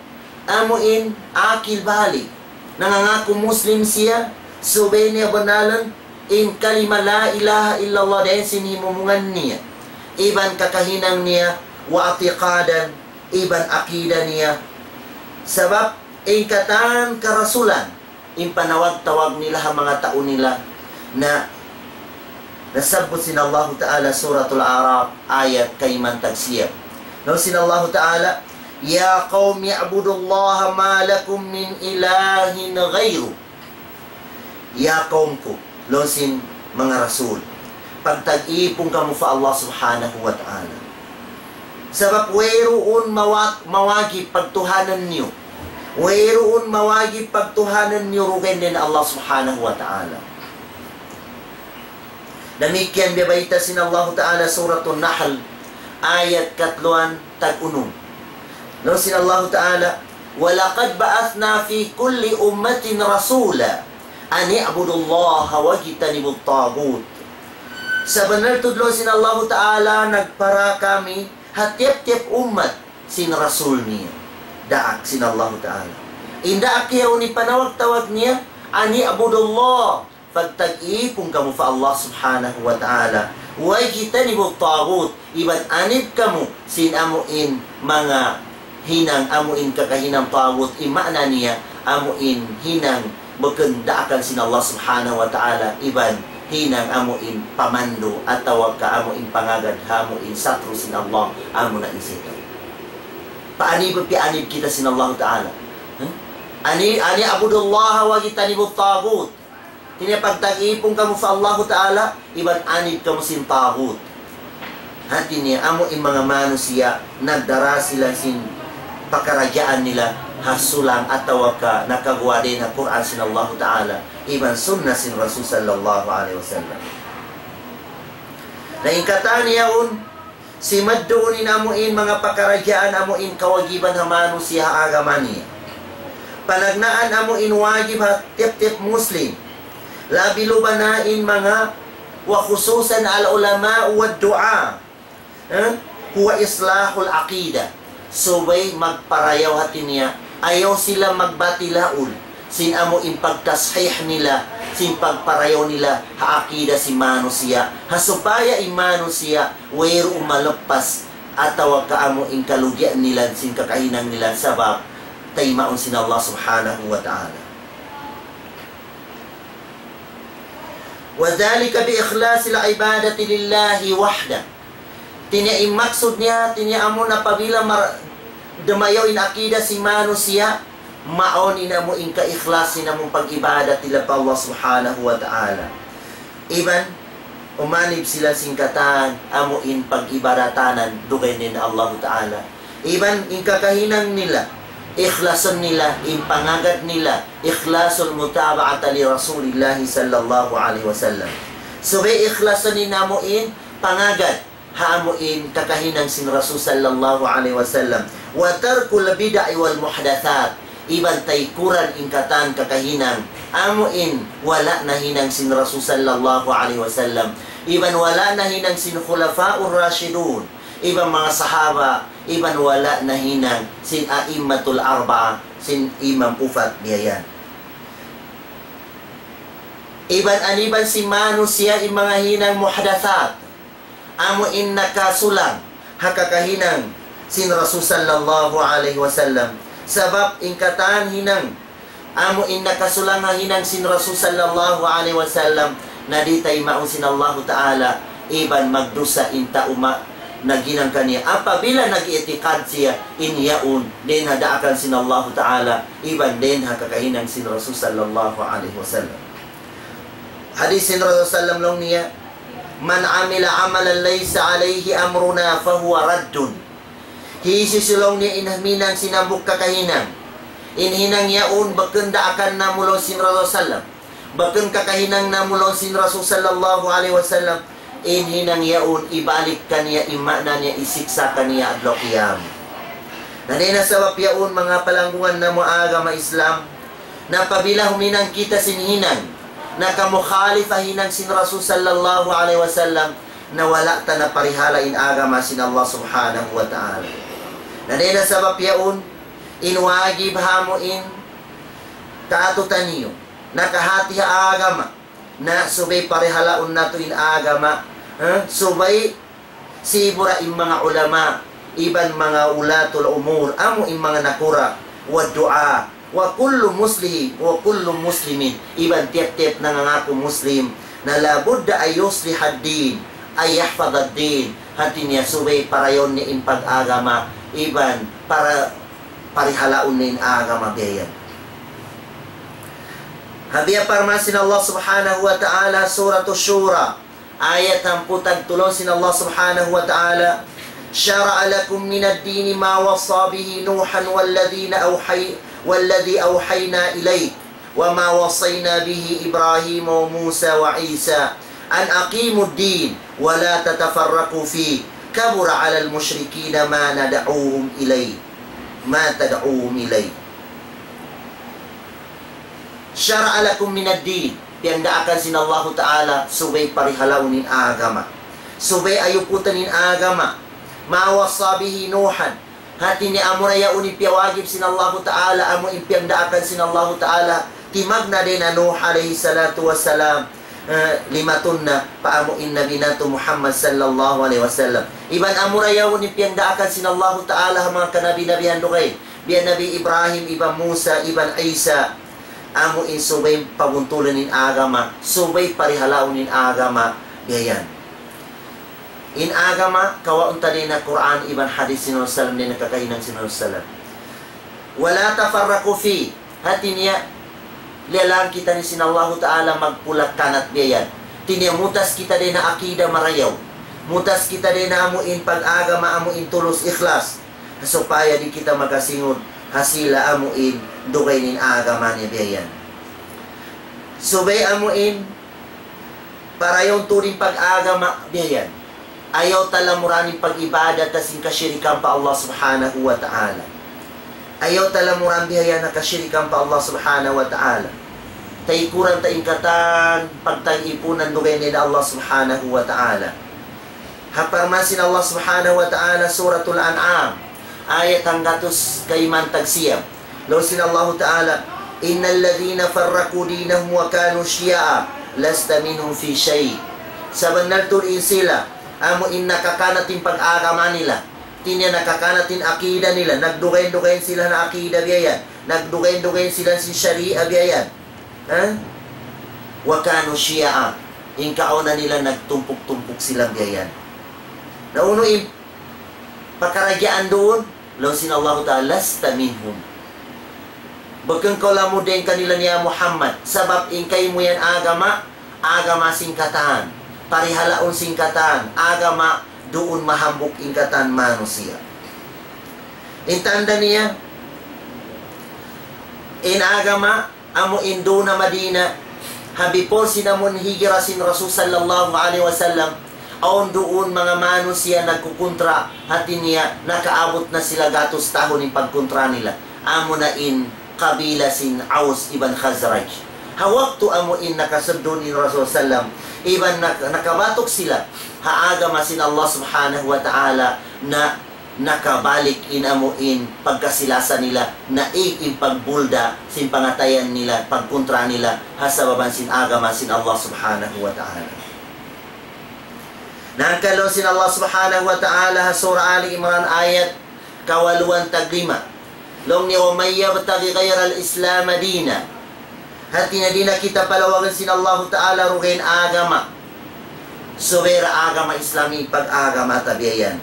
amu in akil balig, nangangaku Muslim siya, subay niya banalan in kalima la ilaha illallah dayn sin himumungan niya, iban kakahinang niya, wa i'tiqadan, iban aqida niya. Sabab in katan karasulan, in panawag-tawag nila ha manga tau nila, na nasabbut sin Allahu Ta'ala Suratul A'raf, ayat kayman tagsiyam. Laung sin Allahu Ta'ala, يا قوم اعبدوا الله ما لكم من إله غيره. Ya kaum ku, laung sin manga rasul, pagtag-ipun kamu pa Allah Subhanahu wa Ta'ala. Sabab wayruun mawa-, mawajib pagtuhanan niyu. Wayruun mawajib pagtuhanan niyu dugaing dayn ha Allah Subhanahu wa Ta'ala. Damikkiyan biyabayta' sin Allahu Ta'ala Suratun Nahl, ayat katluan tag-unum. Laung sin Allahu Ta'ala, ولقد بعثنا في كل أمة رسولا أن اعبدوا الله واجتنبوا الطاغوت. Sabunnal tuud laung sin Allahu Ta'ala, nagpara kami ha tiyap-tiyap ummat sin rasul niya. Daak sin Allahu Ta'ala. In daak yaun in panawag-tawag niya, أن اعبدوا الله, pagtag-ipun kamu pa Allah Subhanahu wa Ta'ala. واجتنبوا الطاغوت, iban anib kamu sin amu in manga hinang amu in kakahinang taghut, in maana niya amu in hinang bukun daakan sin Allah Subhanahu wa Ta'ala, iban hinang amu in pamandu' atawa ka amu in pangagad ha amu in satru' sin Allah, amu na in saytan. Paanib, pianib kita sin Allah Ta'ala. Hmm? أن، أن اعبدوا الله واجتنبوا الطاغوت. Hati niya pagtag-ipun kamu pa Allahu Ta'ala, iban anib kamu sin taghut. Hati niya, amu in manga manusiya', nagdara sila sin pakaradjaan nila ha sulang atawa ka nakaguwa' dayn ha Qur'an sin Allahu Ta'ala, iban sunnah sin Rasul sallallahu alayhi wasallam. Na in katan yaun, simadduun in amu in manga pakaradjaan amu in kawajiban ha manusiya' ha agama niya. Panagnaan amu in wajib ha tiyap-tiyap Muslim. Labi luba na in manga, وخصوصا العلماء والدعاة. Eh? هو إصلاح العقيدة. Subay magparayaw hati niya, ayaw sila magbatil haul sin amu in pagtashih nila, sin pagparayaw nila ha akida sin manusiya'. Ha supaya in manusiya' wayruun malappas atawa ka amu in kalugian nila sin kakahinang nila sabab taymaun sin Allah Subhanahu wa Ta'ala. وذلك بإخلاص العبادة لله وحده. Hati niya in maksud niya, hati niya amu na apabila mar-, dumayaw in akida sin manusiya', mawn in amu in kaikhlas sin amu pag-ibadat nila pa Allah Subhanahu wa Ta'ala. Iban umanib sila sin katan amu in pag-ibadatanan dugaing dayn ha Allahu Ta'ala. Iban in kakahinang nila, ikhlasun nila, in pangagad nila, ikhlasul mutaba'ata li Rasulillahi sallallahu alayhi wasallam. Subay ikhlasun in amu in pangagad ha amu in kakahinang sin Rasul sallallahu alayhi wasallam. Wa tarkul bid'i wal muhdathat. Iban taykuran in katan kakahinang amu in wala' nahinang sin Rasul sallallahu alayhi wasallam. Iban wala' nahinang sin khulafa'ur rashidun. Iban manga sahaba, iban wala' nahinang sin a'immatul arba'a, sin imam upat biya' yan. Iban aniban sin manusiya' in manga hinang muhdathat. Amu in nakasulang ha kakahinang sin Rasul sallallahu alayhi wasallam. Sabab in katan hinang, amu in nakasulang ha hinang sin Rasul sallallahu alayhi wasallam, na di' taymaun sin Allahu Ta'ala, iban magdusa in tau ma-, naghinang kaniya. Apabila nag-i'tikad siya, in yaun, dayn ha daakan sin Allahu Ta'ala, iban dayn ha kakahinang sin Rasul sallallahu alayhi wasallam. Hadith sin Rasul sallam laung niya, "Man amila amalan laysa alayhi amruna fahuwa raddun." Hisiyu-siyu laung niya in huminang sin hambuuk kakahinang, in hinang yaun bukun daakan namu' laung sin Rasul sallam, bukun kakahinang namu' laung sin Rasul sallallahu alayhi wasallam, in hinang yaun ibalik kaniya, in maana niya isiksa' kaniya adlaw qiyamah. Na dayn ha sabab yaun manga palanggungan namu' agama Islam, na apabila huminang kita sin hinang nakamukhalif ha hinang sin Rasul sallallahu alayhi wasallam, na wala' ta na parihala' in agama sin Allah subhanahu wa ta'ala. Na dayn ha sabab yaun, in wajib ha amu in kaatutaniyu, nakahati ha agama, na subay parihalaun natu' in agama, ha? Subay sibura in manga ulama, iban manga ulatul umur, amu in manga nakura', wa du'a, wa kullu muslimin, wa kullu muslimin, iban tiyap-tiyap nangangaku Muslim, na la budda an yuslihad din, an yahfadhad din, hati niya subay parayawun niya in pag-agama, iban para parihalaun niya in agama biya' yan. Ha biya' parman sin Allah subhanahu wa ta'ala, Surah Shura, ayat hangpu' tagtulun sin Allah subhanahu wa ta'ala, شرع لكم من الدين ما وصى به نوحا والذين أوحي-، والذي أوحينا إليك وما وصينا به إبراهيم وموسى وعيسى أن أقيموا الدين ولا تتفرقوا فيه كبر على المشركين ما ندعوهم إليه، ما تدعوهم إليه. شرع لكم من الدين. Piyagdaakan sin Allahu Ta'ala, subay parihalaun in agama. Subay ayuputan in agama. ما وصى به نوحا. Hati niya amura yaun in piyawajib sin Allahu Ta'ala, amu in piyagdaakan sin Allahu Ta'ala. Timagna' dayn ha Nuh alayhi salatu wassalam, eh, limatun na pa amu in Nabi natu' Muhammad sallallahu alayhi wasallam. Iban amura yaun in piyagdaakan sin Allahu Ta'ala ha manga kanabi-nabihan dugaing. Biya' Nabi Ibrahim, iban Musa, iban Isa. Amu in subay pabuntulun in agama, subay parihalaun in agama, biya' yan. In agama, kawaun ta dayn ha Qur'an, iban hadith sin Rasul sallam, dayn ha kakahinang sin Rasul sallam. ولا تفرقوا فيه. Hati niya, liyalang kita ni sin Allahu Ta'ala magpulak-kanat biya' yan. Hati niya mutas kita dayn ha akida marayaw. Mutas kita dayn ha amu in pag-agama, amu in tulus ikhlas. Supaya di' kita makasingud ha sila amu in dugaing in agama niya biya' yan. Subay amu in parayawun tuud in pag-agama biya' yan. Ayaw ta lamuran in pag-ibadat ta sin kashirikan pa Allah subhanahu wa ta'ala. Ayaw ta lamuran biya' yan na kashirikan pa Allah subhanahu wa ta'ala. Taykuran ta in katan pagtag-ipunan dugaing dayn ha Allah subhanahu wa ta'ala. Ha parman sin Allah subhanahu wa ta'ala, Suratul An'am, ayat hanggatus kayman tagsiyam. Laung sin Allahu Ta'ala, إن الذين فرقوا دينهم وكانوا شيعا لست منهم في شيء. Sabunnal tuud in sila, amu in nakakanat in pag-agama nila. Hati niya nakakanat in akida nila. Nagdugaing-dugaing sila ha akida biya' yan. Nagdugaing-dugaing sila sin sharia biya' yan. Ha? وكانوا شيعا. In kaawnan nila nagtumpuk-tumpuk sila biya' yan. Na unu in pakaragyaan duun? Laung sin Allahu Ta'ala, لست منهم. Bukun kaw lamud dayn kanila niya Muhammad. Sabab in kaymu yan agama, agama sin katan, parihalaun sin katan agama, duun mahambuuk in katan manusiya'. In tanda' niya, in agama amu in duun ha Madina, ha before sin amun hijra sin Rasul sallallahu alayhi wasallam, awn duun manga manusiya' nagkukuntra, hati niya nakaabut na sila gatus tahun in pagkuntra nila. Amu na in kabila sin Aus iban Khazraj. Ha waktu amu in nakasuddun in Rasul sallam, iban nak-, nakabatuk sila ha agama sin Allah subhanahu wa ta'ala, na nakabalik in amu in pagkasi-lasa nila, naig in pagbulda sin pangatayan nila, pagkuntra nila ha sabab sin agama sin Allah subhanahu wa ta'ala. Na hangkan laung sin Allah subhanahu wa ta'ala ha Surah Ali Imran ayat kawaluan taglima. Laung niya, ومن يبتغ غير الإسلام دينا. Hati niya di' na kita palawagun sin Allahu Ta'ala dugaing agama subay da agama Islam in pag-agama ta biya' yan.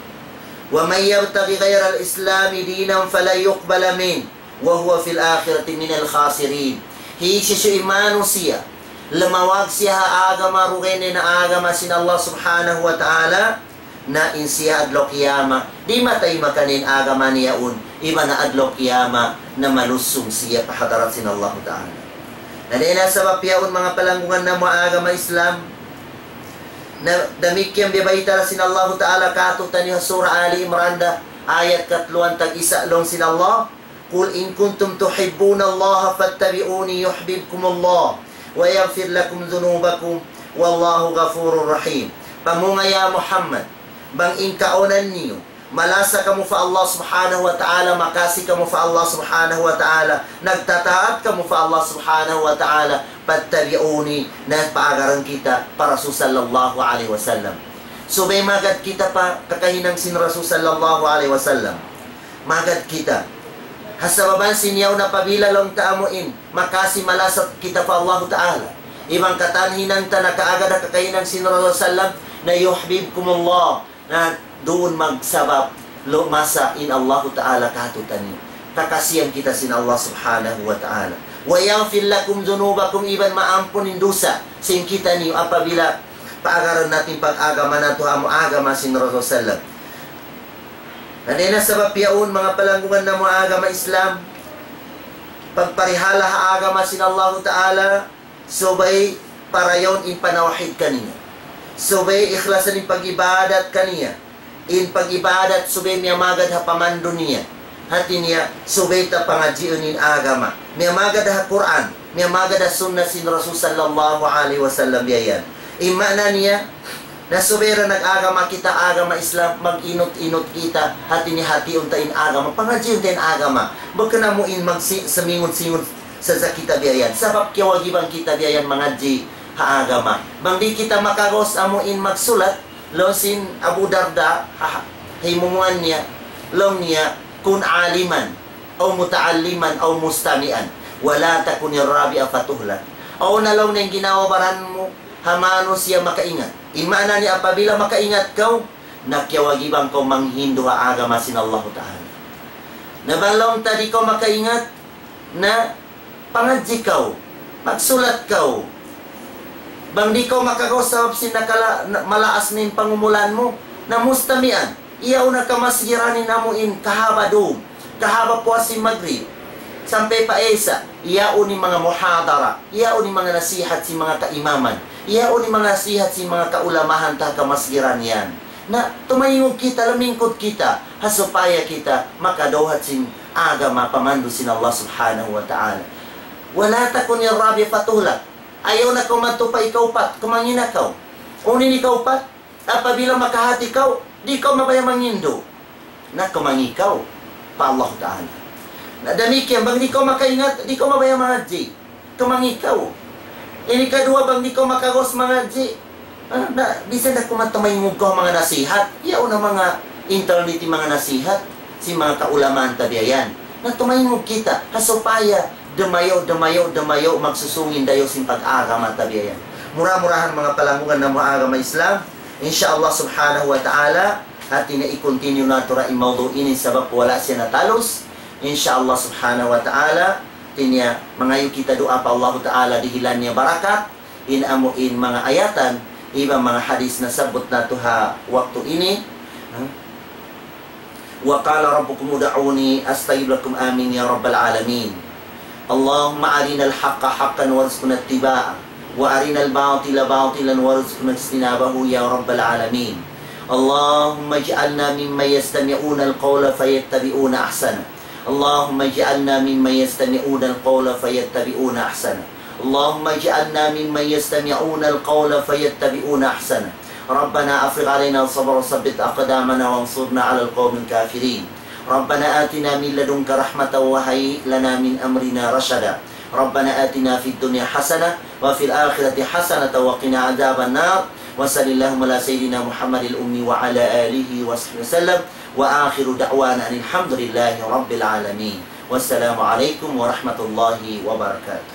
ومن يبتغ غير الإسلام دينا فلن يقبل منه وهو في الآخرة من الخاسرين. Hisiyu-siyu in manusiya' lumawag siya ha agama dugaing na agama sin Allah subhanahu wa ta'ala, na in siya adlaw kiyamat, di' mataymakan in agama niya yaun, iban na adlaw kiyamat, na malusung siya pa hadarat sin Allahu Ta'ala. Na dayn ha sabab yaun manga palanggungan namu' agama Islam, na damikkiyan biya' bayta' sin Allahu Ta'ala kātu'niyu ha Surah Ali Imran da, ayat katluan tag-isa laung sin Allah, قل إن كنتم تحبون الله فاتبعوني يحببكم الله ويغفر لكم ذنوبكم والله غفور رحيم. Pamung ya Muhammad, bang in kaunan niyu, malasa kamu pa Allah subhanahu wa ta'ala, makasi kamu pa Allah subhanahu wa ta'ala, nagtataat kamu pa Allah subhanahu wa ta'ala, فاتبعوني, na paagaran kita pa Rasul sallallahu alayhi wasallam. Subay magad kita pa kakahinang sin Rasul sallallahu alayhi wasallam. Magad kita. Ha sabab sin yaun apabila laung ta amu in, makasi malasa kita pa Allahu Ta'ala. Iban katan hinang ta nakaagad ha kakahinang sin Rasul sallam, na يحببكم الله, na duun magsabab lumasa in Allahu Ta'ala kātu'niyu. Kakasihan kita sin Allah subhanahu wa ta'ala. ويغفر لكم ذنوبكم, iban maampun in dusa sin kitaniyu apabila paagaran natu' in pag-agama natu' amu agama sin Rasul sallam. Na dayn ha sabab yaun manga palanggungan namu' agama Islam, pagparihala ha agama sin Allahu Ta'ala, subay parayawun in panawhid kaniya. Subay ikhlasan in pag-ibadat kaniya. In pag-ibadat subay miyamagad ha pamandu' niya. Hati niya, subay ta pangadjiun in agama. Miyamagad ha Qur'an, miyamagad ha sunnah sin Rasul sallallahu alayhi wasallam biya' yan. In maana niya, na subay da nag-agama kita agama Islam, mag-inut-inut kita, hati niya hatiun ta in agama, pangadjiun ta in agama. Bukun amu in magsi-, samingun-singun sadja kita biya' yan. Sabab kiyawajiban kita biya' yan mangadji' ha agama. Bang di' kita makagaus amu in magsulat, laung sin Abu Darda, ha, ha himumungan niya, laung niya, كن عالما أو متعلما أو مستمعا ولا تكن الرابع فتهلك. Awn na laung niya in ginhawa-baran mu ha manusiya' makaingat. In maana niya apabila makaingat kaw, na kiyawajiban kaw manghindu' ha agama sin Allahu Ta'ala. Na bang laung ta di' kaw makaingat, na pangadji' kaw, magsulat kaw. Bang di' kaw makagaus sabab sin nakala-, na-, malaas na in pangumulan mu, na mustami'an. Iyaun na kamasgiran in amu in kahaba' dum, kahaba' puas sin Magrib, sampay pa Isa, iyaun in manga muhadara, iyaun in manga nasihat sin manga kaimaman, iyaun in manga nasihat sin manga kaulamahan ta kamasgiran yan. Na tumaingug kita, lamingkud kita, ha supaya kita makadawhat sin agama pamandu' sin Allah subhanahu wa ta'ala. ولا تكن الرابع فتهلك. Ayaw na kaw madtu pa ikaupat, kumangi' na kaw. Unu in ikaupat, apabila makahati kaw, di' kaw mabaya' manghindu'. Na kumangi' kaw pa Allah Ta'ala. Na damikkiyan, bang di' kaw makaingat, di' kaw mabaya' mangadji'. Kumangi' kaw. In ikaduwa, bang di' kaw makagaus mangadji', ah, na, bisan da kuman tumaingug kaw manga nasihat. Yaun na manga internet in manga nasihat sin manga kaulamaan ta biya' yan. Na tumaingug kita, ha supaya dumayaw, dumayaw, dumayaw, magsusung in dayaw sin pag-agama ta biya' yan. Mura-murahan manga palanggungan namu' agama Islam, insya Allah subhanahu wa ta'ala, hati niya i-continue natu' ra in mawdu' ini sabab wala' siya natalus. Insya Allah subhanahu wa ta'ala, hati niya mangayu' kita duwaa pa Allahu ta'ala dihilan niya barakat, in amu in manga ayatan, iban manga hadith nasabbut natu' ha waktu ini. Ha? وقال ربكم ادعوني أستجب لكم. آمين يا رب العالمين. اللهم أرنا الحق حقا وارزقنا اتباعه، وأرنا الباطل باطلا وارزقنا اجتنابه يا رب العالمين. اللهم اجعلنا ممن يستمعون القول فيتبعون أحسنه. اللهم اجعلنا ممن يستمعون القول فيتبعون أحسنه. اللهم اجعلنا ممن يستمعون القول فيتبعون أحسنه. ربنا أفرغ علينا صبرا وثبت أقدامنا وانصرنا على القوم الكافرين. ربنا آتنا من لدنك رحمة وهيئ لنا من أمرنا رشدا. ربنا آتنا في الدنيا حسنة وفي الآخرة حسنة وقنا عذاب النار. وصل اللهم على سيدنا محمد الأمي وعلى آله وصحبه وسلم. وآخر دعوانا أن الحمد لله رب العالمين. والسلام عليكم ورحمة الله وبركاته.